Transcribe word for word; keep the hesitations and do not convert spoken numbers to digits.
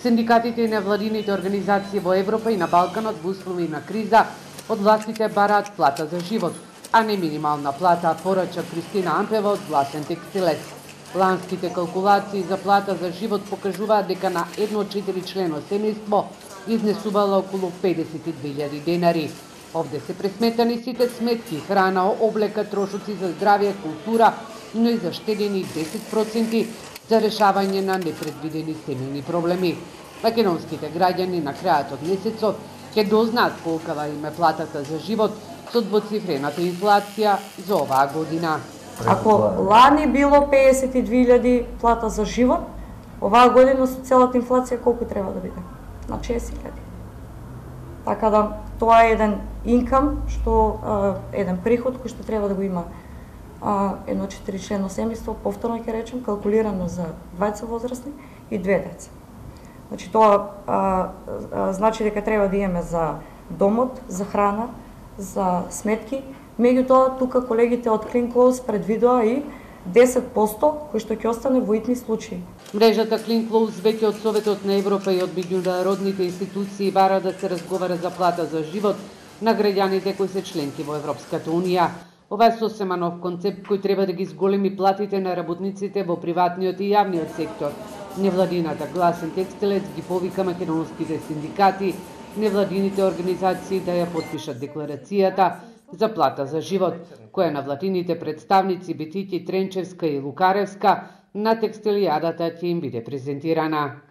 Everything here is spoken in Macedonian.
Синдикатите и невладините организации во Европа и на Балканот во услови на криза од властите бараат плата за живот, а не минимална плата, порача Кристина Ампева од Гласен текстилец. Ланските калкулации за плата за живот покажуваат дека на едно четири члено семејство изнесувала околу педесет и две илјади денари. Овде се пресметани сите сметки, храна, облека, трошоци за здравје, култура, но и заштедени десет проценти за решавање на непредвидени семејни проблеми. Македонските граѓани на крајот од месецот ќе дознаат колкава им е платата за живот со двоцифрената инфлација за оваа година. Ако лани било педесет и две илјади плата за живот, оваа година со целата инфлација колку треба да биде? На шест илјади. Така да тоа е еден инкам, што еден приход кој што треба да го има едно четири члено семејство, повторно ќе речем, калкулирано за двајца возрастни и две деца. Значи тоа а, а, значи дека треба да имаме за домот, за храна, за сметки. Меѓутоа, тука колегите од Clean Clothes предвидоа и десет проценти кои што ќе остане во итни случаи. Мрежата Clean Clothes веќе од Советот на Европа и од меѓународните институции бара да се разговара за плата за живот на граѓаните кои се членки во Европската унија. Ова е сосема нов концепт кој треба да ги зголеми платите на работниците во приватниот и јавниот сектор. Невладината Гласен текстилец ги повика македонските синдикати, невладините организации да ја потпишат декларацијата за плата за живот, која на владините представници Бетики, Тренчевска и Лукаревска на текстилијадата ќе им биде презентирана.